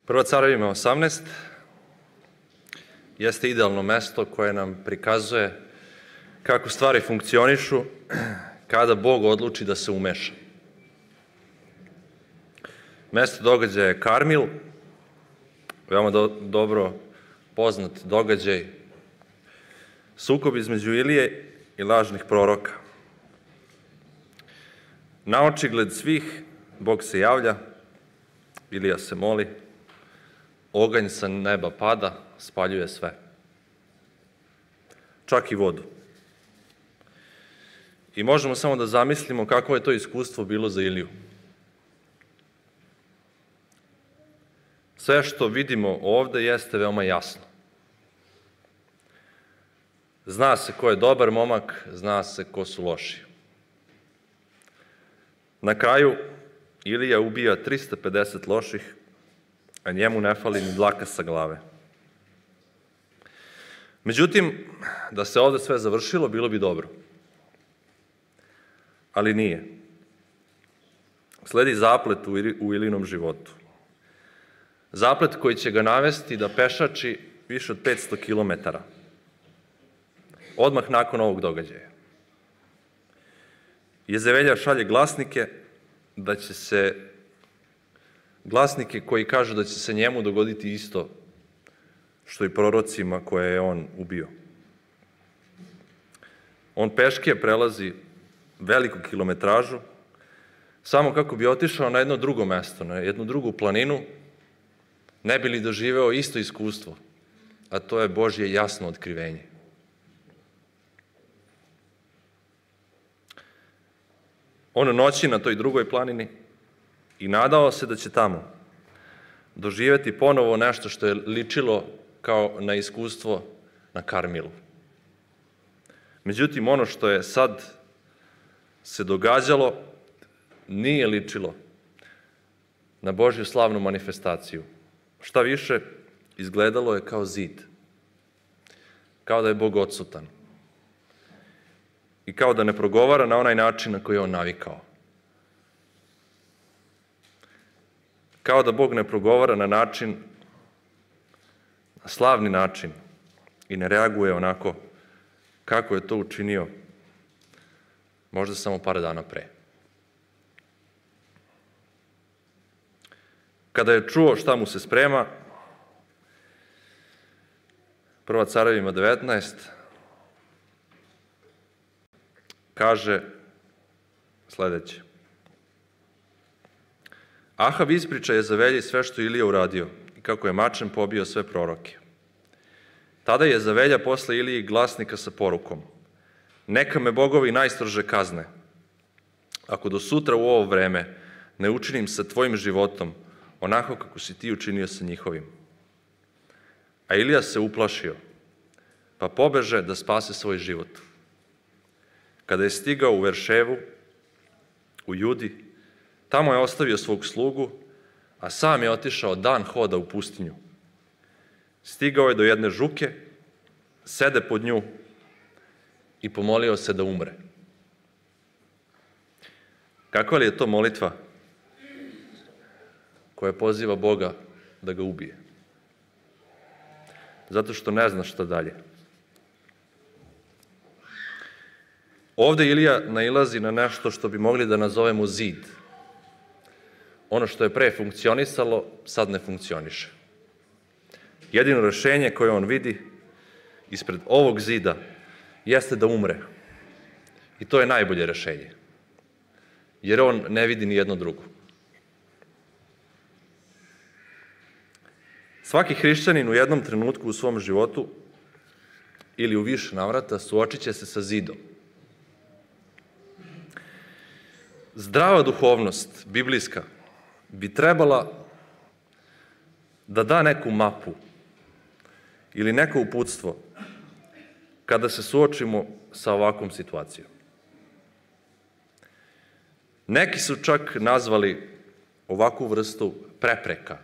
Prva Carevima 18 jeste idealno mesto koje nam prikazuje kako stvari funkcionišu kada Bog odluči da se umeša. Mesto događaja je Karmil, veoma dobro poznat događaj, sukob između Ilije i lažnih proroka. Na očigled svih Bog se javlja, Ilija se moli, oganj sa neba pada, spaljuje sve, čak i vodu. I možemo samo da zamislimo kako je to iskustvo bilo za Iliju. Sve što vidimo ovde jeste veoma jasno. Zna se ko je dobar momak, zna se ko su loši. Na kraju Ilija ubija 350 loših, a njemu ne fali ni dlaka sa glave. Međutim, da se ovde sve završilo, bilo bi dobro. Ali nije. Sledi zaplet u Ilijinom životu. Zaplet koji će ga navesti da pešači više od 500 kilometara. Odmah nakon ovog događaja. Jezevelja šalje glasnike koji kažu da će se njemu dogoditi isto što i prorocima koje je on ubio. On peške prelazi veliku kilometražu samo kako bi otišao na jedno drugo mesto, na jednu drugu planinu, ne bi li doživeo isto iskustvo, a to je Božje jasno otkrivenje. On noći na toj drugoj planini i nadao se da će tamo doživeti ponovo nešto što je ličilo kao na iskustvo na Karmilu. Međutim, ono što je sad se događalo nije ličilo na Božju slavnu manifestaciju. Šta više, izgledalo je kao zid. Kao da je Bog odsutan. I kao da ne progovara na onaj način na koji je on navikao. Kao da Bog ne progovara na slavni način i ne reaguje onako kako je to učinio možda samo par dana pre. Kada je čuo šta mu se sprema, Prva Carevima 19 kaže sledeće. Ahav ispriča Jezavelji sve što Ilija uradio i kako je mačem pobio sve proroke. Tada je Jezavelja posle Iliji glasnika sa porukom: neka me bogovi najstrože kazne, ako do sutra u ovo vreme ne učinim sa tvojim životom onako kako si ti učinio sa njihovim. A Ilija se uplašio, pa pobeže da spase svoj život. Kada je stigao u Verševu, u Judi, tamo je ostavio svog slugu, a sam je otišao dan hoda u pustinju. Stigao je do jedne žuke, sede pod nju i pomolio se da umre. Kakva li je to molitva koja poziva Boga da ga ubije? Zato što ne zna šta dalje. Ovde Ilija nailazi na nešto što bi mogli da nazovemo zid. Ono što je pre funkcionisalo, sad ne funkcioniše. Jedino rešenje koje on vidi ispred ovog zida jeste da umre. I to je najbolje rešenje. Jer on ne vidi ni jedno drugo. Svaki hrišćanin u jednom trenutku u svom životu ili u više navrata suočit će se sa zidom. Zdrava duhovnost, biblijska, bi trebala da da neku mapu ili neko uputstvo kada se suočimo sa ovakvom situacijom. Neki su čak nazvali ovakvu vrstu prepreka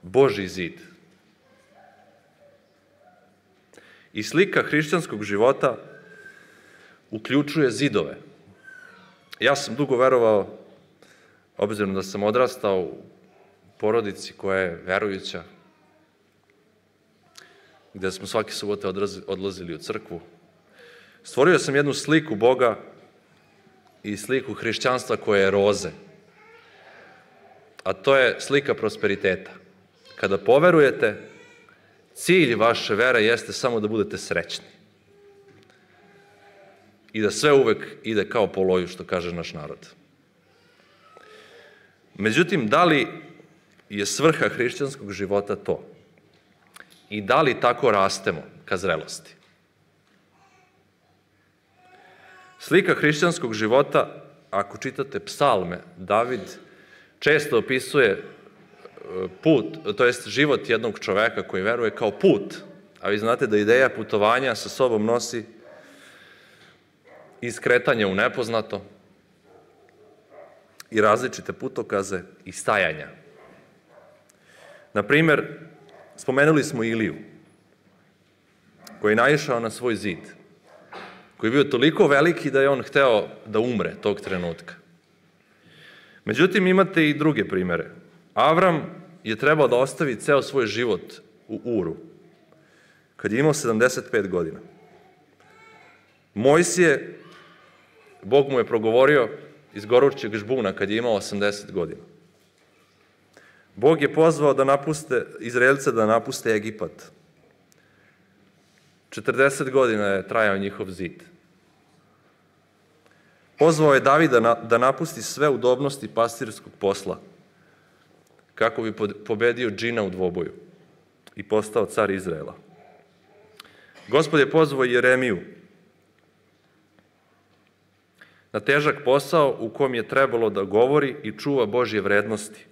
Božji zid. I slika hrišćanskog života uključuje zidove. Ja sam dugo verovao, obzirom da sam odrastao u porodici koja je verujuća, gde smo svake subote odlazili u crkvu. Stvorio sam jednu sliku Boga i sliku hrišćanstva koja je roze. A to je slika prosperiteta. Kada poverujete, cilj vaše vere jeste samo da budete srećni. I da sve uvek ide kao po loju, što kaže naš narod. Međutim, da li je svrha hrišćanskog života to? I da li tako rastemo ka zrelosti? Slika hrišćanskog života, ako čitate psalme, David često opisuje put, to jest život jednog čoveka koji veruje kao put. A vi znate da ideja putovanja sa sobom nosi iskretanje u nepoznato i različite putokaze i stajanja. Na primer, spomenuli smo Iliju, koji je naišao na svoj zid, koji je bio toliko veliki da je on hteo da umre tog trenutka. Međutim, imate i druge primere. Avram je trebao da ostavi ceo svoj život u Uru, kad je imao 75 godina. Mojsije, Bog mu je progovorio iz gorućeg žbuna kad je imao 80 godina. Bog je pozvao Izraelce da napuste Egipat. 40 godina je trajao njihov zid. Pozvao je Davida da napusti sve udobnosti pastirskog posla, kako bi pobedio džina u dvoboju i postao car Izraela. Gospod je pozvao Jeremiju na težak posao u kom je trebalo da govori i čuva Božje vrednosti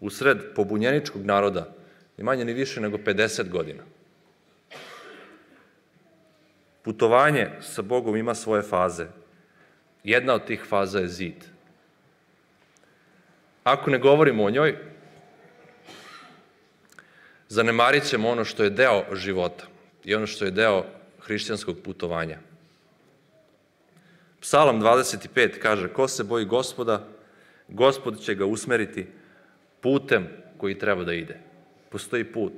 usred pobunjeničkog naroda, ni manje ni više nego 50 godina. Putovanje sa Bogom ima svoje faze. Jedna od tih faza je zid. Ako ne govorimo o njoj, zanemarit ćemo ono što je deo života i ono što je deo hrišćanskog putovanja. Psalam 25 kaže: ko se boji Gospoda, Gospod će ga usmeriti putem koji treba da ide. Postoji put.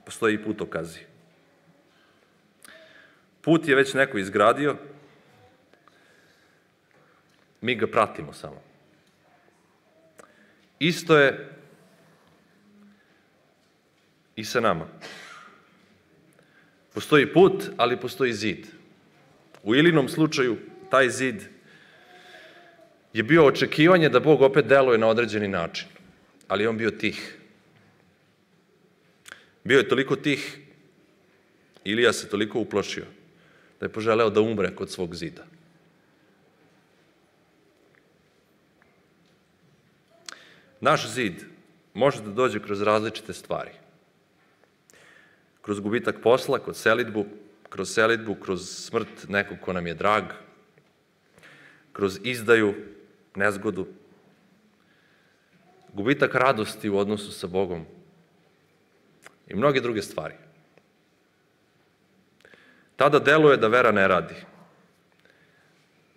Postoji i putokazi. Put je već neko izgradio, mi ga pratimo samo. Isto je i sa nama. Postoji put, ali postoji zid. U Ilinom slučaju, taj zid je bio očekivanje da Bog opet deluje na određeni način, ali je on bio tih. Bio je toliko tih, Ilija se toliko uplašio, da je poželeo da umre kod svog zida. Naš zid može da dođe kroz različite stvari. Kroz gubitak posla, kroz selidbu, kroz smrt nekog ko nam je drag, kroz izdaju, nezgodu, gubitak radosti u odnosu sa Bogom i mnoge druge stvari. Tada deluje da vera ne radi.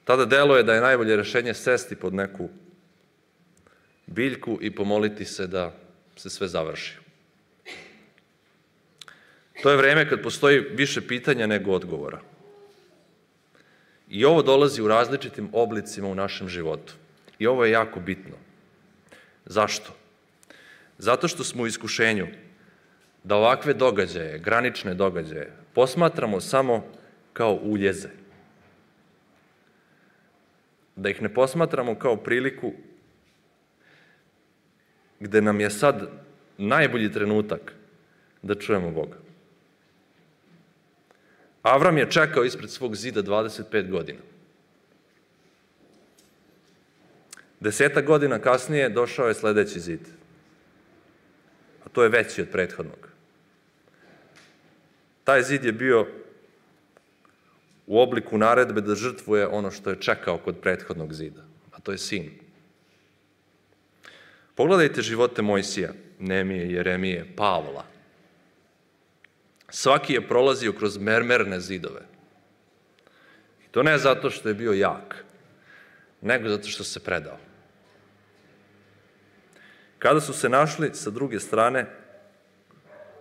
Tada deluje da je najbolje rešenje sesti pod neku biljku i pomoliti se da se sve završi. To je vreme kad postoji više pitanja nego odgovora. I ovo dolazi u različitim oblicima u našem životu. I ovo je jako bitno. Zašto? Zato što smo u iskušenju da ovakve događaje, granične događaje, posmatramo samo kao uljeze. Da ih ne posmatramo kao priliku gde nam je sad najbolji trenutak da čujemo Boga. Avram je čekao ispred svog zida 25 godina. 10 godina kasnije došao je sledeći zid. A to je veći od prethodnog. Taj zid je bio u obliku naredbe da žrtvuje ono što je čekao kod prethodnog zida, a to je sin. Pogledajte živote Mojsija, Nemije, Jeremije, Pavla. Svaki je prolazio kroz mermerne zidove. I to ne zato što je bio jak, nego zato što se predao. Kada su se našli sa druge strane,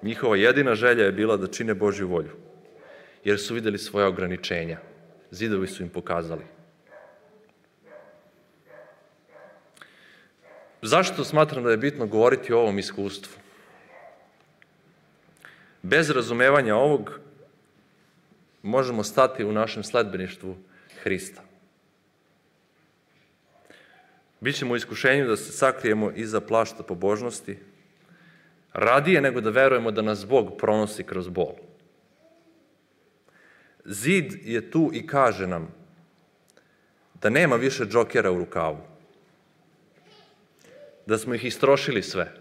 njihova jedina želja je bila da čine Božju volju, jer su vidjeli svoja ograničenja. Zidovi su im pokazali. Zašto smatram da je bitno govoriti o ovom iskustvu? Bez razumevanja ovog možemo stati u našem sledbeništvu Hrista. Bićemo u iskušenju da se sakrijemo iza plašta pobožnosti, radije nego da verujemo da nas Bog pronosi kroz bol. Zid je tu i kaže nam da nema više džokera u rukavu, da smo ih istrošili sve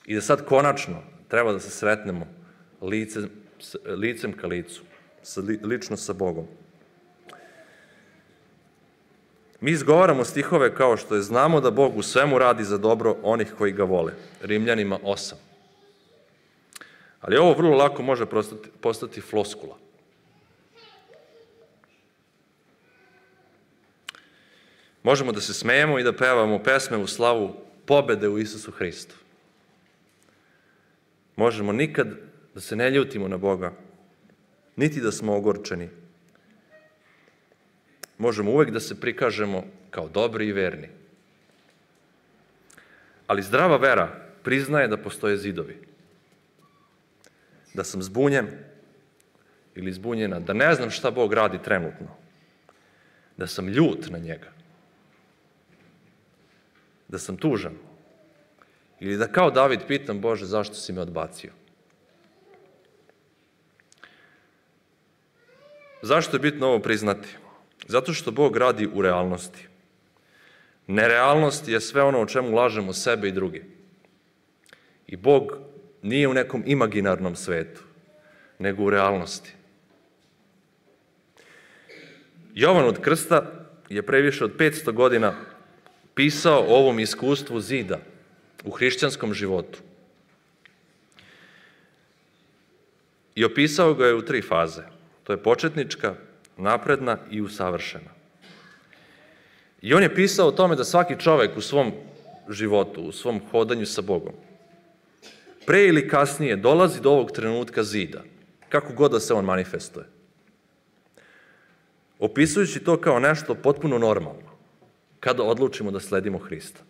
i da sad konačno treba da se sretnemo licem ka licu, lično sa Bogom. Mi izgovaramo stihove kao što je znamo da Bog u svemu radi za dobro onih koji ga vole. Rimljanima 8. Ali ovo vrlo lako može postati floskula. Možemo da se smejemo i da pevamo pesme u slavu pobede u Isusu Hristu. Možemo nikad da se ne ljutimo na Boga, niti da smo ogorčeni. Možemo uvek da se prikažemo kao dobri i verni. Ali zdrava vera priznaje da postoje zidovi. Da sam zbunjen ili zbunjena, da ne znam šta Bog radi trenutno. Da sam ljut na njega. Da sam tužan. Ili da kao David pitam, Bože, zašto si me odbacio? Zašto je bitno ovo priznati? Zato što Bog radi u realnosti. Nerealnost je sve ono o čemu lažemo sebe i druge. I Bog nije u nekom imaginarnom svetu, nego u realnosti. Jovan od Krsta je pre više od 500 godina pisao o ovom iskustvu zida u hrišćanskom životu. I opisao ga je u 3 faze. To je početnička, napredna i usavršena. I on je pisao o tome da svaki čovek u svom životu, u svom hodanju sa Bogom, pre ili kasnije dolazi do ovog trenutka zida, kako god da se on manifestuje. Opisujući to kao nešto potpuno normalno, kada odlučimo da sledimo Hrista.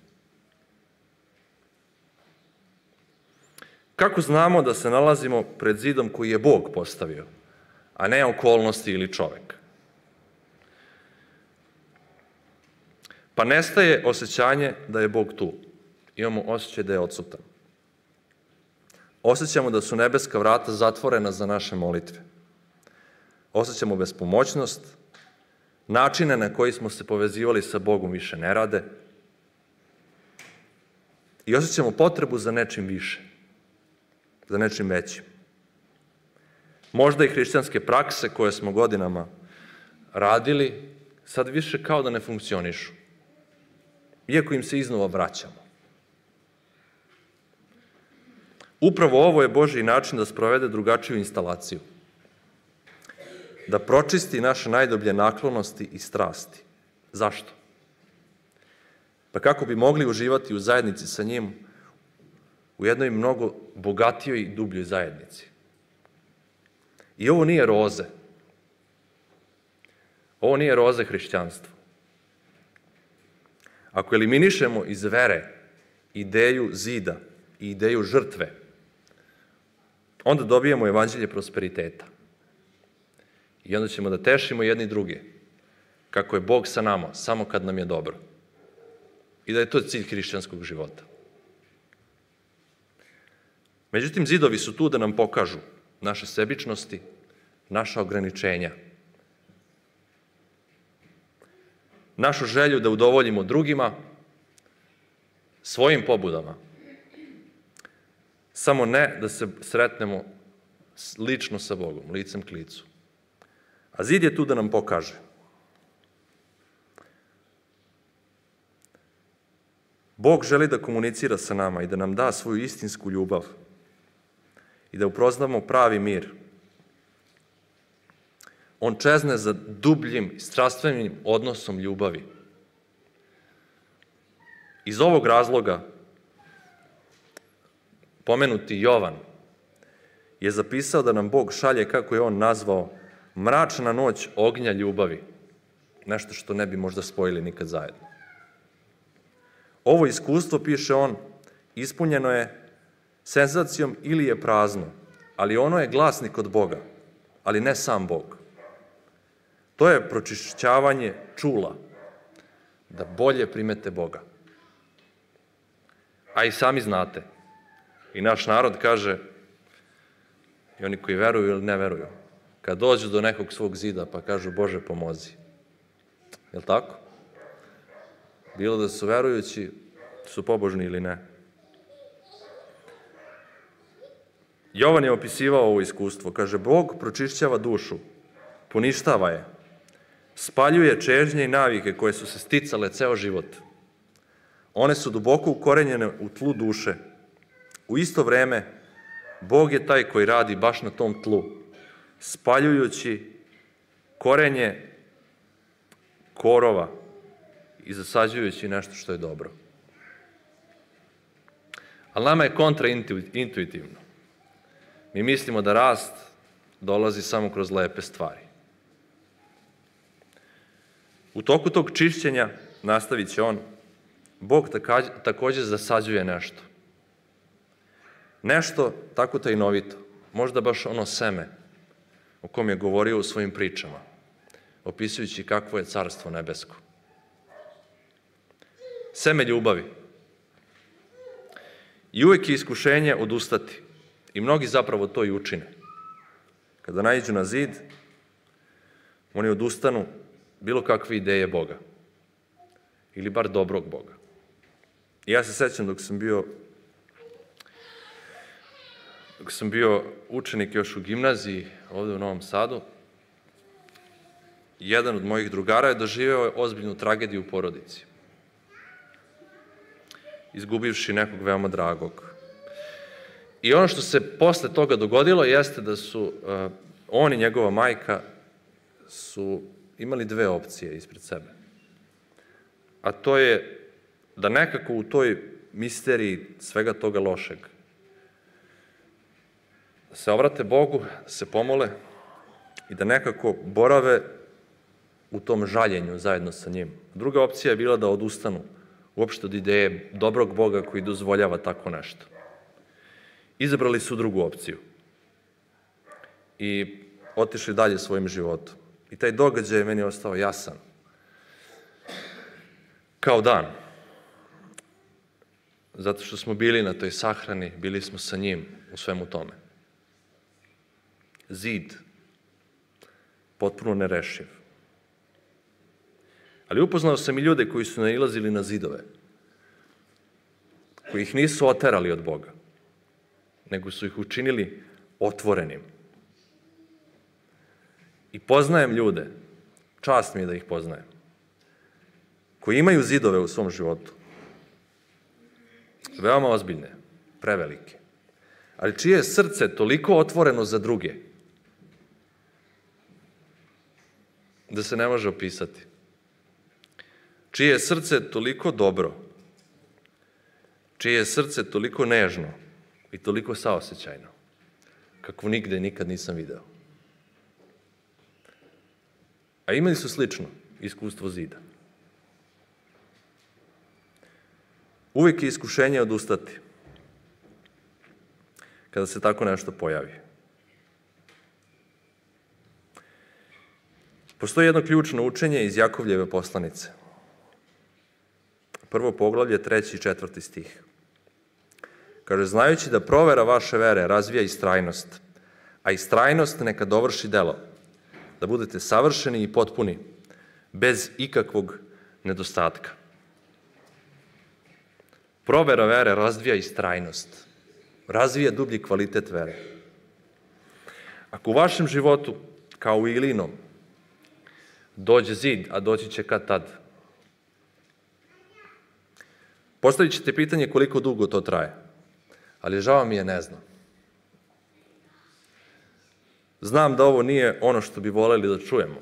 Kako znamo da se nalazimo pred zidom koji je Bog postavio, a ne okolnosti ili čovek? Pa nestaje osjećanje da je Bog tu. Imamo osjećaj da je odsutan. Osjećamo da su nebeska vrata zatvorena za naše molitve. Osjećamo bespomoćnost, načine na koji smo se povezivali sa Bogom više ne rade i osjećamo potrebu za nečim više, za nečim većim. Možda i hrišćanske prakse koje smo godinama radili, sad više kao da ne funkcionišu, iako im se iznova vraćamo. Upravo ovo je Božji način da sprovede drugačiju instalaciju. Da pročisti naše najdublje naklonosti i strasti. Zašto? Pa kako bi mogli uživati u zajednici sa njim u jednoj mnogo bogatijoj i dubljoj zajednici. I ovo nije roze. Ovo nije roze hrišćanstva. Ako eliminišemo iz vere ideju zida i ideju žrtve, onda dobijemo evanđelje prosperiteta. I onda ćemo da tešimo jedni druge, kako je Bog sa nama, samo kad nam je dobro. I da je to cilj hrišćanskog života. Međutim, zidovi su tu da nam pokažu naše sebičnosti, naša ograničenja, našu želju da udovoljimo drugima, svojim pobudama, samo ne da se sretnemo lično sa Bogom, licem k licu. A zid je tu da nam pokaže. Bog želi da komunicira sa nama i da nam da svoju istinsku ljubav i da upoznamo pravi mir. On čezne za dubljim, strastvenim odnosom ljubavi. Iz ovog razloga pomenuti Jovan je zapisao da nam Bog šalje, kako je on nazvao, mračna noć ognja ljubavi. Nešto što ne bi možda spojili nikad zajedno. Ovo iskustvo, piše on, ispunjeno je senzacijom ili je prazno, ali ono je glasnik od Boga, ali ne sam Bog. To je pročišćavanje čula, da bolje primete Boga. A i sami znate, i naš narod kaže, i oni koji veruju ili ne veruju, kad dođu do nekog svog zida pa kažu Bože pomozi. Jel' tako? Bilo da su verujući, su pobožni ili ne. Jovan je opisivao ovo iskustvo. Kaže, Bog pročišćava dušu, poništava je, spaljuje čežnje i navike koje su se sticale ceo život. One su duboko ukorenjene u tlu duše. U isto vreme, Bog je taj koji radi baš na tom tlu, spaljujući korenje korova i zasađujući nešto što je dobro. Ali nama je kontraintuitivno. Mi mislimo da rast dolazi samo kroz lepe stvari. U toku tog čišćenja, nastavit će on, Bog također zasađuje nešto. Nešto tako tajnovito, možda baš ono seme o kom je govorio u svojim pričama, opisujući kakvo je carstvo nebesko. Seme ljubavi. I uvek je iskušenje odustati. I mnogi zapravo to i učine. Kada naiđu na zid, oni odustanu bilo kakve ideje Boga. Ili bar dobrog Boga. I ja se sećam dok sam bio učenik još u gimnaziji ovde u Novom Sadu, jedan od mojih drugara je doživeo ozbiljnu tragediju u porodici. Izgubivši nekog veoma dragog. I ono što se posle toga dogodilo jeste da su on i njegova majka su imali dve opcije ispred sebe. A to je da nekako u toj misteriji svega toga lošeg se obrate Bogu, da se pomole i da nekako borave u tom žaljenju zajedno sa njim. Druga opcija je bila da odustanu uopšte od ideje dobrog Boga koji dozvoljava tako nešto. Izabrali su drugu opciju i otišli dalje svojim životom. I taj događaj je meni ostao jasan. Kao dan. Zato što smo bili na toj sahrani, bili smo sa njim u svemu tome. Zid. Potpuno nerešiv. Ali upoznao sam i ljude koji su nailazili na zidove, koji ih nisu oterali od Boga, nego su ih učinili otvorenim. I poznajem ljude, čast mi je da ih poznajem, koji imaju zidove u svom životu, veoma ozbiljne, prevelike, ali čije je srce toliko otvoreno za druge, da se ne može opisati. Čije je srce toliko dobro, čije je srce toliko nežno i toliko saosećajno, kako nigde nikad nisam video. A imali su slično iskustvo zida. Uvijek je iskušenje odustati kada se tako nešto pojavi. Postoji jedno ključno učenje iz Jakovljeve poslanice. Prvo poglavlje, 3. i 4. stih. Kaže, znajući da provera vaše vere razvija istrajnost, a istrajnost neka dovrši delo, da budete savršeni i potpuni, bez ikakvog nedostatka. Provera vere razvija istrajnost, razvija dublji kvalitet vere. Ako u vašem životu, kao u Ilinom, dođe zid, a doći će kad tad, postavit ćete pitanje koliko dugo to traje, ali žao mi je, ne znam. Znam da ovo nije ono što bi voleli da čujemo,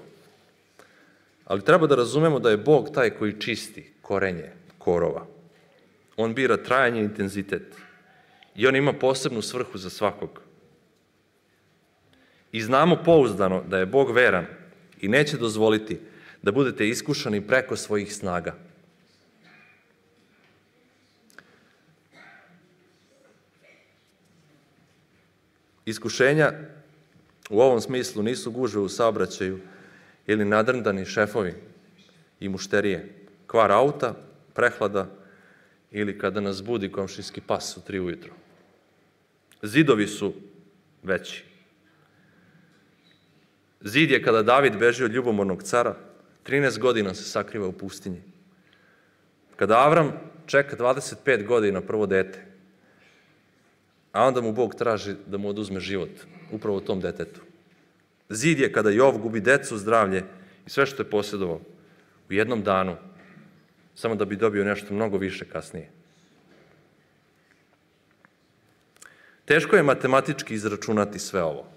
ali treba da razumemo da je Bog taj koji čisti korenje korova. On bira trajanje i intenzitet. I on ima posebnu svrhu za svakog. I znamo pouzdano da je Bog veran i neće dozvoliti da budete iskušani preko svojih snaga. Iskušenja u ovom smislu nisu gužve u saobraćaju ili nadrndani šefovi i mušterije, kvar auta, prehlada ili kada nas budi komšijski pas u 3 ujutro. Zidovi su veći. Zid je kada David beži od ljubomornog cara, 13 godina se sakriva u pustinji. Kada Avram čeka 25 godina prvo dete, a onda mu Bog traži da mu oduzme život, upravo tom detetu. Zid je kada Jov gubi decu, zdravlje i sve što je posjedovao u jednom danu, samo da bi dobio nešto mnogo više kasnije. Teško je matematički izračunati sve ovo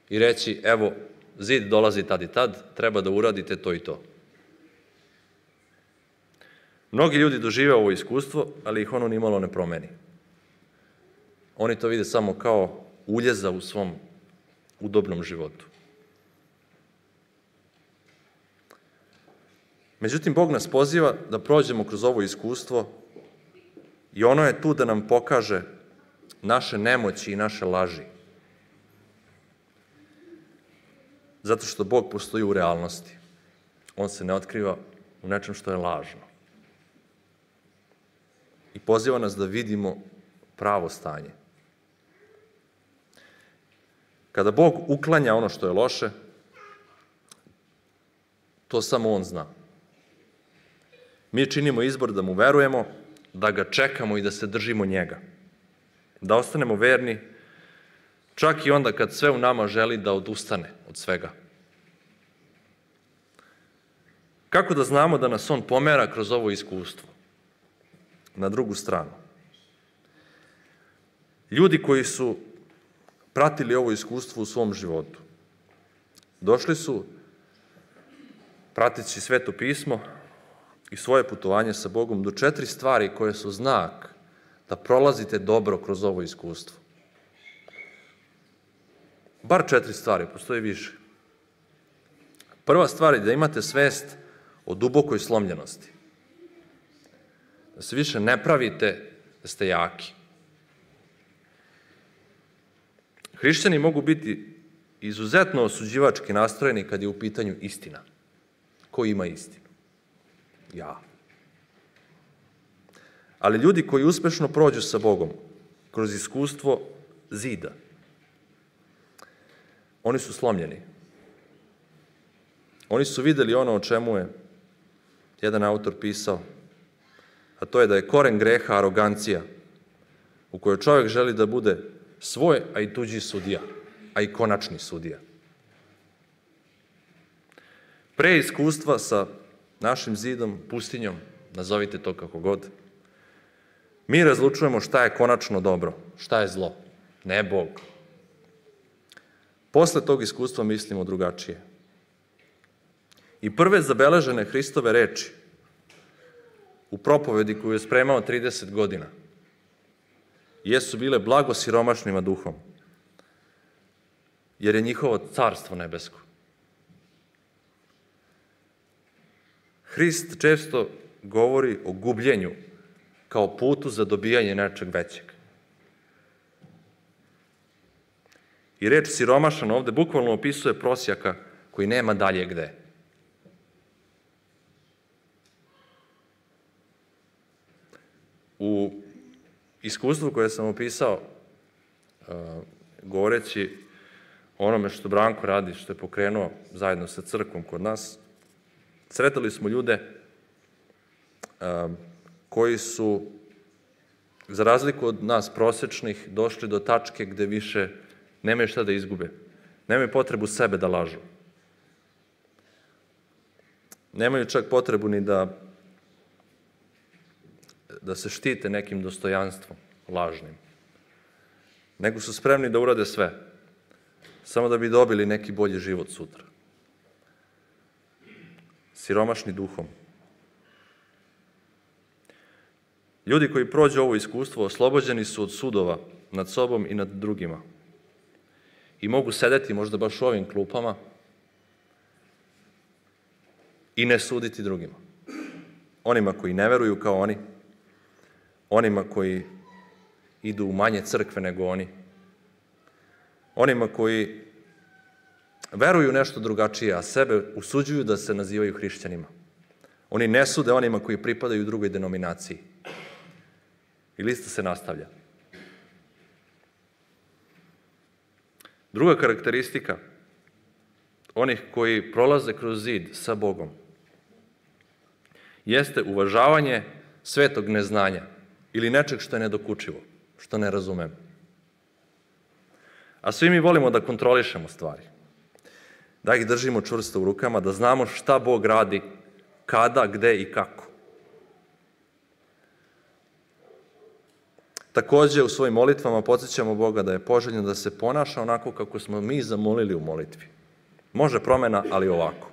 i reći, evo, zid dolazi tad i tad, treba da uradite to i to. Mnogi ljudi dožive ovo iskustvo, ali ih ono nimalo ne promeni. Oni to vide samo kao uljeza u svom udobnom životu. Međutim, Bog nas poziva da prođemo kroz ovo iskustvo i ono je tu da nam pokaže naše nemoći i naše laži. Zato što Bog postoji u realnosti. On se ne otkriva u nečem što je lažno. I poziva nas da vidimo pravo stanje. Kada Bog uklanja ono što je loše, to samo On zna. Mi činimo izbor da mu verujemo, da ga čekamo i da se držimo njega. Da ostanemo verni, čak i onda kad sve u nama želi da odustane od svega. Kako da znamo da nas On pomera kroz ovo iskustvo? Na drugu stranu. Ljudi koji su pratili ovo iskustvo u svom životu, došli su, prateći Sveto pismo i svoje putovanje sa Bogom, do 4 stvari koje su znak da prolazite dobro kroz ovo iskustvo. Bar 4 stvari, postoji više. Prva stvar je da imate svest o dubokoj slomljenosti. Da se više ne pravite da ste jaki. Hrišćani mogu biti izuzetno osuđivački nastrojeni kad je u pitanju istina. Ko ima istinu? Ja. Ali ljudi koji uspešno prođu sa Bogom kroz iskustvo zida, oni su slomljeni. Oni su videli ono o čemu je jedan autor pisao, a to je da je koren greha arogancija, u kojoj čovjek želi da bude svoj, a i tuđi sudija, a i konačni sudija. Pre iskustva sa našim zidom, pustinjom, nazovite to kako god, mi razlučujemo šta je konačno dobro, šta je zlo, ne Bog. Posle tog iskustva mislimo drugačije. I prve zabeležene Hristove reči u propovedi koju je spremao 30 godina jesu bile blago siromašnima duhom, jer je njihovo carstvo nebesko. Hrist često govori o gubljenju kao putu za dobijanje nečeg većeg. I reč siromašan ovde bukvalno opisuje prosjaka koji nema dalje gde. U iskustvu koje sam opisao, govoreći o onome što Branko radi, što je pokrenuo zajedno sa crkvom kod nas, sretali smo ljude koji su, za razliku od nas prosečnih, došli do tačke gde više nemaju šta da izgube. Nemaju potrebu sebe da lažu. Nemaju čak potrebu ni da se štite nekim dostojanstvom lažnim. Nego su spremni da urade sve, samo da bi dobili neki bolji život sutra. Siromašni duhom. Ljudi koji prođu ovo iskustvo oslobođeni su od sudova nad sobom i nad drugima. I mogu sedeti možda baš u ovim klupama i ne suditi drugima. Onima koji ne veruju kao oni, onima koji idu u manje crkve nego oni, onima koji veruju nešto drugačije, a sebe usuđuju da se nazivaju hrišćanima. Oni ne sude onima koji pripadaju drugoj denominaciji. I lista se nastavlja. Druga karakteristika onih koji prolaze kroz zid sa Bogom jeste uvažavanje svetog neznanja ili nečeg što je nedokučivo, što ne razumemo. A svi mi volimo da kontrolišemo stvari, da ih držimo čvrsto u rukama, da znamo šta Bog radi, kada, gde i kako. Takođe, u svojim molitvama podsjećamo Boga da je poželjno da se ponaša onako kako smo mi zamolili u molitvi. Može promena, ali ovako.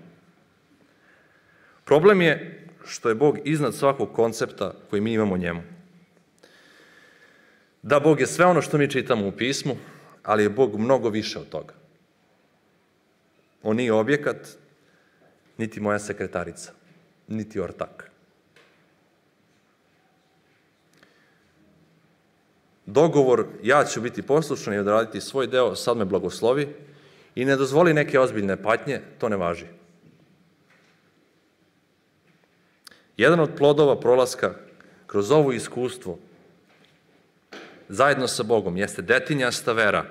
Problem je što je Bog iznad svakog koncepta koji mi imamo o njemu. Da, Bog je sve ono što mi čitamo u pismu, ali je Bog mnogo više od toga. On nije objekat, niti moja sekretarica, niti ortak. Dogovor, ja ću biti poslušan i odraditi svoj deo, sad me blagoslovi i ne dozvoli neke ozbiljne patnje, to ne važi. Jedan od plodova prolaska kroz ovo iskustvo zajedno sa Bogom jeste detinjasta vera.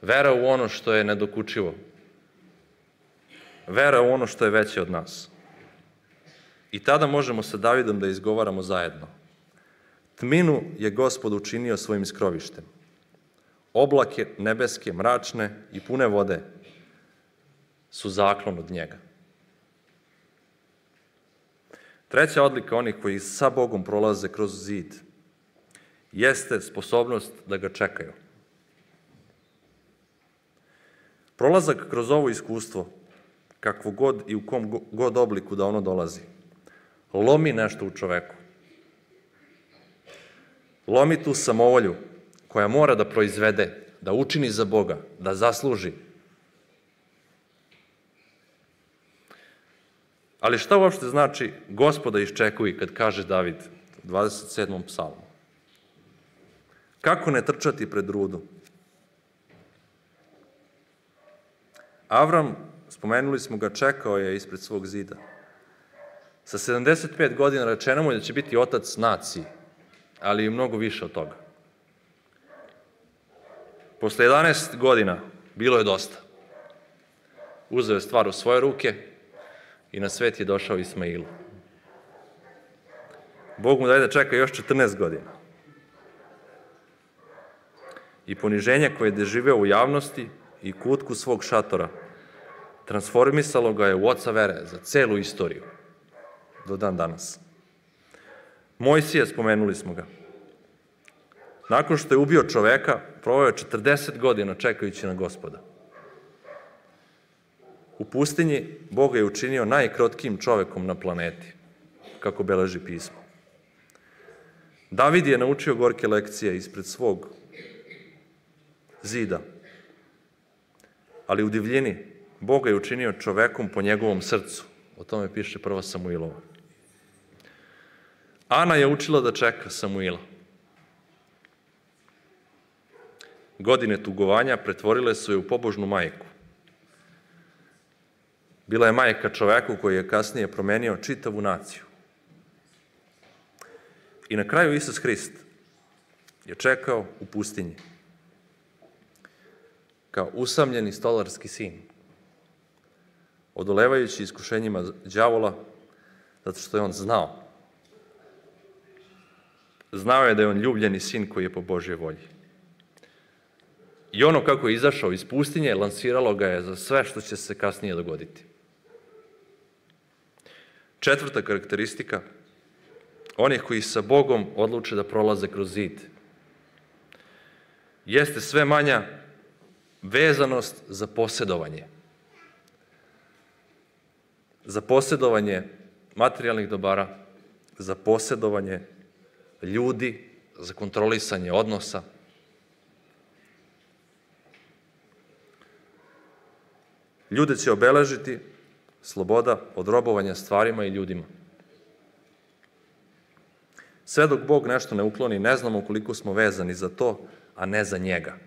Vera u ono što je nedokučivo. Vera u ono što je veće od nas. I tada možemo sa Davidom da izgovaramo zajedno. Tminu je Gospod učinio svojim skrovištem. Oblake nebeske, mračne i pune vode su zaklon od njega. Treća odlika onih koji sa Bogom prolaze kroz zid jeste sposobnost da ga čekaju. Prolazak kroz ovo iskustvo, kakvo god i u kom god obliku da ono dolazi, lomi nešto u čoveku. Lomi tu samovolju koja mora da proizvede, da učini za Boga, da zasluži. Ali šta uopšte znači Gospoda iščekuj kad kaže David u 27. psalmu? Kako ne trčati pred rudu? Avram, spomenuli smo ga, čekao je ispred svog zida. Sa 75 godina rečeno mu je da će biti otac naciji, ali i mnogo više od toga. Posle 11 godina bilo je dosta. Uzeo je stvar u svoje ruke i na svet je došao Ismailu. Bog mu daje da čeka još 14 godina. I poniženje koje je doživeo u javnosti i kutku svog šatora transformisalo ga je u oca vere za celu istoriju do dan danas. Mojsije, spomenuli smo ga. Nakon što je ubio čoveka, proveo je 40 godina čekajući na Gospoda. U pustinji Bog je učinio najkrotkijim čovekom na planeti, kako beleži pismo. David je naučio gorke lekcije ispred svog zida, ali u divljini Bog je učinio čovekom po njegovom srcu. O tome piše 1. Samuilova. Ana je učila da čeka Samuila. Godine tugovanja pretvorile su je u pobožnu majku. Bila je majka čoveku koji je kasnije promenio čitavu naciju. I na kraju Isus Hrist je čekao u pustinji kao usamljeni stolarski sin, odolevajući iskušenjima đavola, zato što je on znao. Znao je da je on ljubljeni sin koji je po Božjoj volji. I ono kako je izašao iz pustinje, lansiralo ga je za sve što će se kasnije dogoditi. Četvrta karakteristika onih koji sa Bogom odluče da prolaze kroz zid jeste sve manja vezanost za posjedovanje. Za posjedovanje materijalnih dobara, za posjedovanje ljudi, za kontrolisanje odnosa. Ljude će obeležiti sloboda od robovanja stvarima i ljudima. Sve dok Bog nešto ne ukloni, ne znamo koliko smo vezani za to, a ne za njega.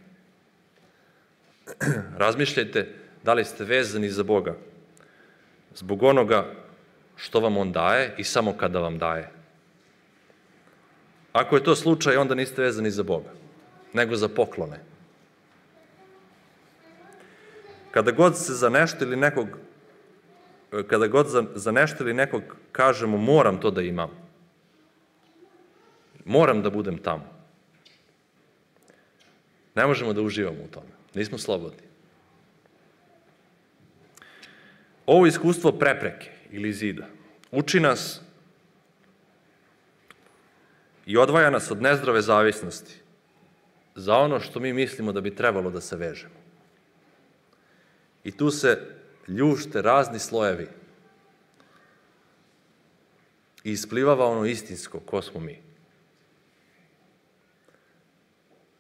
Razmišljajte da li ste vezani za Boga zbog onoga što vam On daje i samo kada vam daje. Ako je to slučaj, onda niste vezani za Boga, nego za poklone. Kada god za nešto ili nekog kažemo moram to da imam, moram da budem tamo, ne možemo da uživamo u tome. Nismo slobodni. Ovo iskustvo prepreke ili zida uči nas i odvaja nas od nezdrave zavisnosti za ono što mi mislimo da bi trebalo da se vežemo. I tu se ljušte razni slojevi i isplivava ono istinsko, ko smo mi.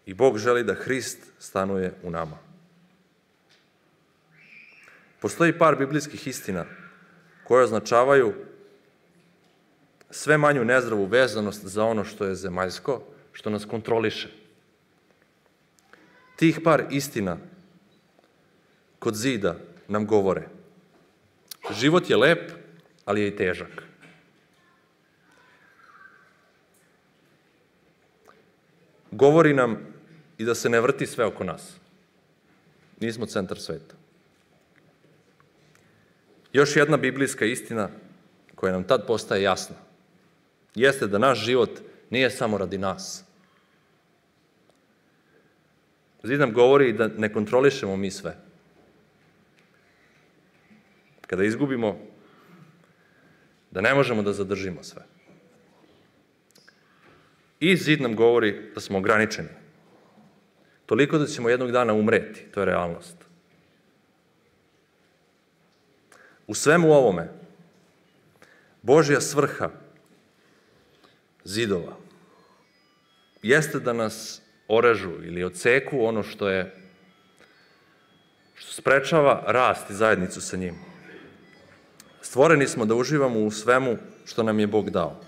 I Bog želi da Hrist stanuje u nama. Postoji par biblijskih istina koje označavaju sve manju nezdravu vezanost za ono što je zemaljsko, što nas kontroliše. Tih par istina kod zida nam govore: život je lep, ali je i težak. Govori nam i da se ne vrti sve oko nas. Nismo centar sveta. Još jedna biblijska istina koja nam tad postaje jasna jeste da naš život nije samo radi nas. Zid nam govori da ne kontrolišemo mi sve. Kada izgubimo, da ne možemo da zadržimo sve. I zid nam govori da smo ograničeni. Toliko da ćemo jednog dana umreti. To je realnost. U svemu ovome, Božja svrha zidova jeste da nas orežu ili odseku ono što sprečava rast i zajednicu sa njim. Stvoreni smo da uživamo u svemu što nam je Bog dao.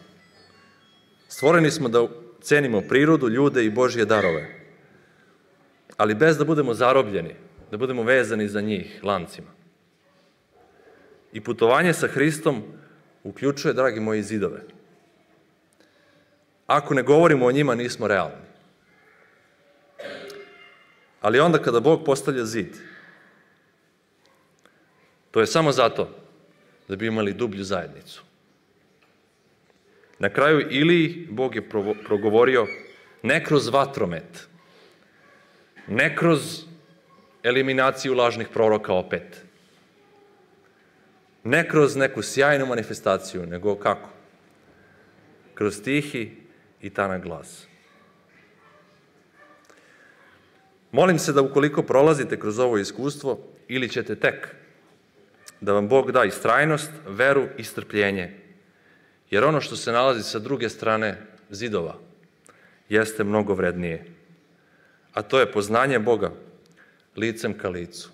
Stvoreni smo da cenimo prirodu, ljude i Božje darove, ali bez da budemo zarobljeni, da budemo vezani za njih lancima. I putovanje sa Hristom uključuje, dragi moji, zidove. Ako ne govorimo o njima, nismo realni. Ali onda kada Bog postavlja zid, to je samo zato da bi imali dublju zajednicu. Na kraju Iliji Bog je progovorio ne kroz vatromet, ne kroz eliminaciju lažnih proroka opet, ne kroz neku sjajnu manifestaciju, nego kako? Kroz tihi i tanak glas. Molim se da ukoliko prolazite kroz ovo iskustvo, ili ćete tek, da vam Bog da istrajnost, veru i strpljenje, jer ono što se nalazi sa druge strane zidova jeste mnogo vrednije, a to je poznanje Boga licem ka licu.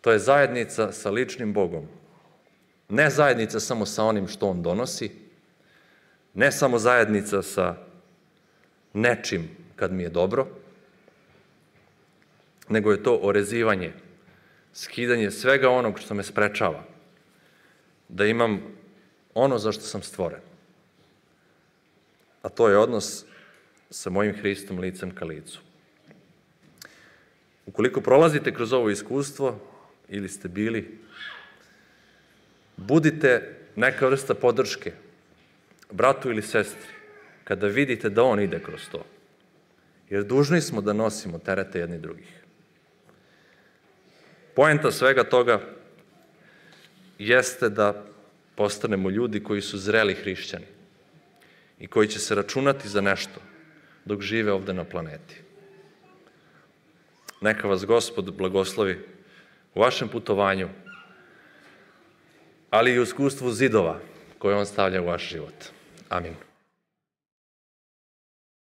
To je zajednica sa ličnim Bogom. Ne zajednica samo sa onim što On donosi, ne samo zajednica sa nečim kad mi je dobro, nego je to orezivanje, skidanje svega onog što me sprečava, da imam ono za što sam stvoren. A to je odnos sa mojim Hristom licem ka licu. Ukoliko prolazite kroz ovo iskustvo, ili ste bili, budite neka vrsta podrške bratu ili sestri, kada vidite da on ide kroz to. Jer dužni smo da nosimo terete jedni drugih. Poenta svega toga jeste da postanemo ljudi koji su zreli hrišćani i koji će se računati za nešto dok žive ovde na planeti. Neka vas Gospod blagoslovi u vašem putovanju, ali i u iskustvu zidova koje On stavlja u vaš život. Amin.